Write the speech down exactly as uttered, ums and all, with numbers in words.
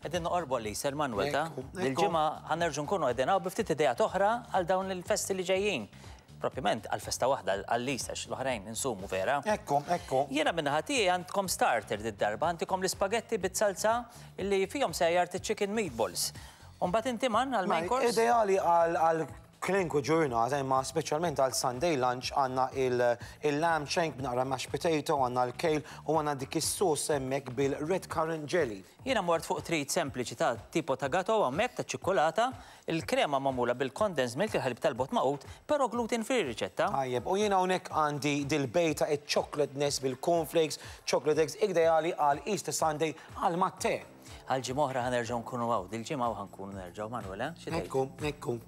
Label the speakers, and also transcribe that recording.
Speaker 1: Qegħdin noqorbu għal Easter, Manuel, ta'
Speaker 2: Ekku, ekku.
Speaker 1: Dil-ġimgħa ħa nerġgħu nkunu qegħdin hawn bi ftit ideat oħra għal dawn il-festi li ġejjin. Propjament għal festa waħda, għall-Easter, l-oħrajn insumu vera.
Speaker 2: Ekku, ekku.
Speaker 1: Jiena min-naħa tiegħi għandkom starter did-darba, għandkom l-ispagetti bit-salsa li fihom sejjart chicken meatballs. Umbagħad inti man għal main course?
Speaker 2: Ideali għal għal kwalunkwe ġurnata, imma speċjalment għal Sunday lunch, għandna il-lamb shank b'naqra mashed potato, għandna l-kale u għandna dik is-sauce hemmhekk bil-red currant jelly.
Speaker 1: Jiena mort fuq treat sempliċi ta' tipo ta' gato hemmhekk ta' ċikkulata, il-krema magħmula bil-condensed milk, il-ħalib tal-bott magħqud, però gluten free riċetta.
Speaker 2: Tajjeb, u jiena hawnhekk għandi dil-bejta chocolate nest bil-cornflakes, chocolate eggs, ideali għal Easter Sunday għal mat-te.
Speaker 1: Għal ġimgħa oħra ħa nerġgħu nkunu hawn, dil-ġimgħa ħa nkunu nerġgħu, Manuel, eh? Xi tgħid?
Speaker 2: Ekku, ekku.